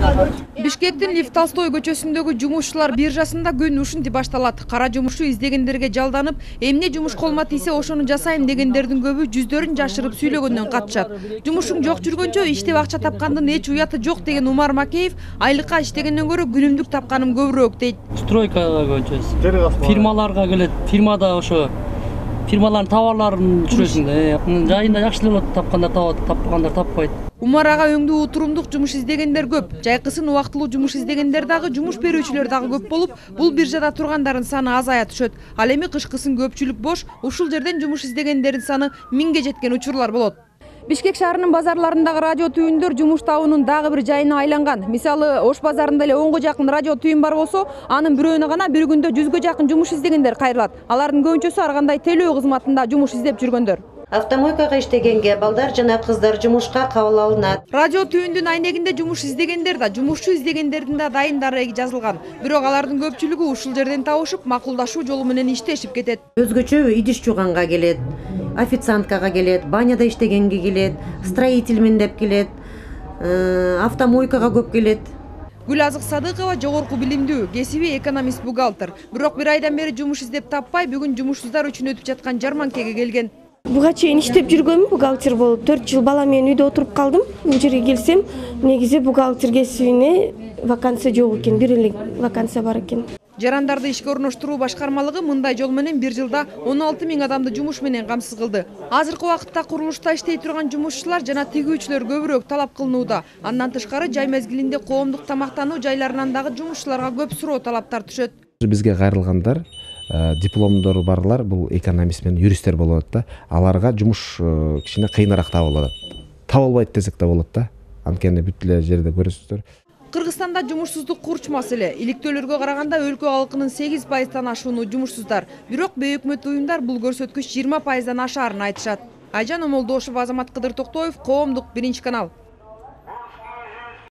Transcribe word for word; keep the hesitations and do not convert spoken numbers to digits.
Бишкектин Лев Толстой көчөсүндөгү жумушчулар биржасында күн ушинтип башталат. Кара жумушу издегендерге жалданып, эмне жумуш колума тийсе ошону жасайм дегендердин көбү жүздөрүн жашырып сүйлөгөндөн катышат. Жумушуң жок жүргөнчө иштеп акча тапкандын эч уяты жок деген Умар Макеев айлыкка иштегенден көрө күнүмдүк тапканым көбүрөөк дейт. Стройкага көчөбүз. Фирмаларга келет. Фирмада ошо фирмалардын товарларын түшүрөсүң да. Жайында жакшы эле болот, тапкандар табат, таппагандар таппайт. Умар ага өңдүү утурумдук жумуш издегендер көп. Жайкысын убактылуу жумуш издегендер дагы, жумуш берүүчүлөр дагы көп болуп, бул биржада тургандардын саны азая түшөт. Ал эми кышкысын көпчүлүк бош, ушул жерден жумуш издегендердин саны миңге жеткен учурлар болот. Бишкек шаарынын базарларындагы радио түйүндөр жумуш табуунун дагы бир жайына айланган. Мисалы, Ош базарында эле онго жакын радио түйүн бар болсо, анын бирөөнө гана бир күндө жүзгө жакын жумуш издегендер кайрылат. Алардын көбүнчөсү ар кандай телөө кызматында жумуш издеп жүргөндөр. Автомойкага иштегенге балдар жана кыздар жумушка кабыл алынат. Радио түйүндүн айнегинде жумуш издегендер да, жумушчу издегендердин да дайын дареги жазылган. Бирок алардын көпчүлүгү ушул жерден табышып, макулдашуу жолу менен иштешип кетет. Өзгөчө идиш жууганга келет, официанткага келет, баняда иштегенге келет, строительмен деп келет, автомойкага көп келет. Гүлазык Садыкова жогорку билимдүү, кесиби экономист-бухгалтер. Бирок бир айдан бери жумуш издеп таппай, бүгүн жумушсуздар үчүн өтүп жаткан жарманкеге келген. Буга чейин иштеп жүргөнмүн, бухгалтер болуп төрт жыл бала менен үйдө отуруп калдым. Бул жерге келсем, негизи бухгалтер кесибине вакансия жок экен, бир эле вакансия бар экен. Жарандарды ишке орноштуруу башкармалыгы мындай жол менен бир жылда он алты миң адамды жумуш менен камсыз кылды. Азыркы убакытта курулушта иштей турган жумушчулар жана тигүүчүлөр көбүрөөк талап кылынууда. Андан тышкары жай мезгилинде коомдук тамактануу жайларынан дагы жумушчуларга көп суроо талаптар түшөт. Бизге кайрылгандар дипломдору барлар бул экономист менен юристтер болот да. Аларга жумуш кичине кыйыныраак табылат. Табылбайт десек да болот да. Анткени бүт эле жерде көрөсүздөр. Кыргызстанда жумушсуздук курч маселе. Иликтөөлөргө караганда өлкө халкынын сегиз пайыздан ашууну жумушсуздар. Бирок бейөкмөт уюмдар бул көрсөткүч жыйырма пайыздан ашаарын айтышат. Айжан Омолдошева, Азамат Кыдыр Токтоев, Коомдук, биринчи канал.